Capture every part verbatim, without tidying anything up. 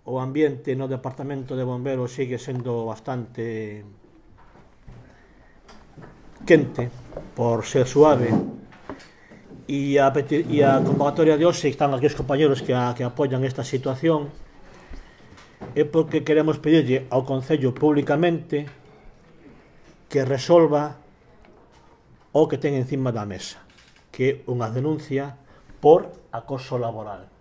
o ambiente no Departamento de Bomberos sigue sendo bastante quente, por ser suave, e a, e a convocatoria de hoxe, están aquí os compañeros que, a, que apoyan esta situación, é porque queremos pedirlle ao Concello públicamente que resolva o que ten encima da mesa, que é unha denuncia por acoso laboral.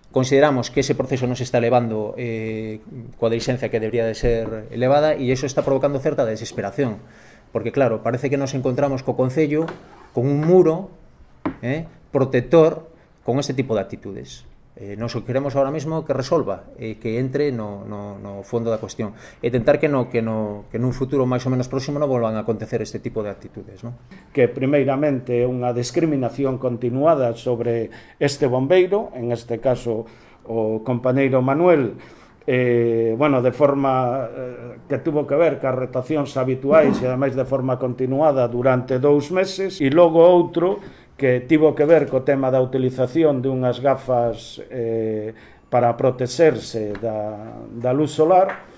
Consideramos que ese proceso non se está levando eh, coa diligencia que debería de ser elevada, e iso está provocando certa desesperación, porque claro, parece que nos encontramos co Concello con un muro eh, protector con este tipo de actitudes. Eh, nos o queremos ahora mesmo que resolva, eh, que entre no, no, no fondo da cuestión, e tentar que, no, que, no, que nun futuro máis ou menos próximo non volvan a acontecer este tipo de actitudes, non? Que primeiramente é unha discriminación continuada sobre este bombeiro, en este caso o compañeiro Manuel, eh, bueno, de forma eh, que tuvo que ver ca rotacións habituais e ademais de forma continuada durante dous meses, e logo outro que tivo que ver co tema da utilización de unhas gafas eh, para protexerse da, da luz solar,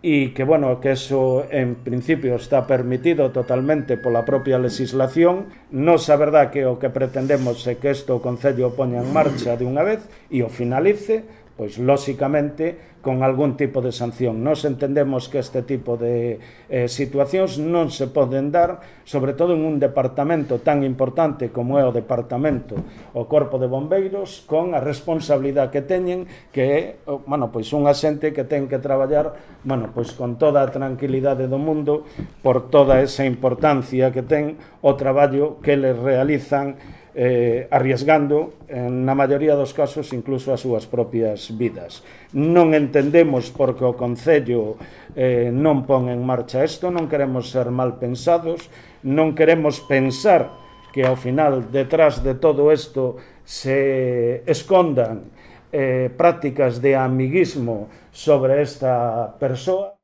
e que, bueno, que eso en principio está permitido totalmente pola propia legislación. Nos, a verdad, que o que pretendemos é que isto o Concello poña en marcha de unha vez e o finalice, pois, lóxicamente, con algún tipo de sanción. Nos entendemos que este tipo de eh, situacións non se poden dar, sobre todo en un departamento tan importante como é o departamento, o Corpo de Bombeiros, con a responsabilidade que teñen, que é, bueno, pois unha xente que ten que traballar, bueno, pois con toda a tranquilidade do mundo, por toda esa importancia que ten o traballo que les realizan, Eh, arriesgando, en na maioría dos casos, incluso as súas propias vidas. Non entendemos por que o Concello eh, non pon en marcha isto, non queremos ser mal pensados, non queremos pensar que ao final, detrás de todo isto, se escondan eh, prácticas de amiguismo sobre esta persoa.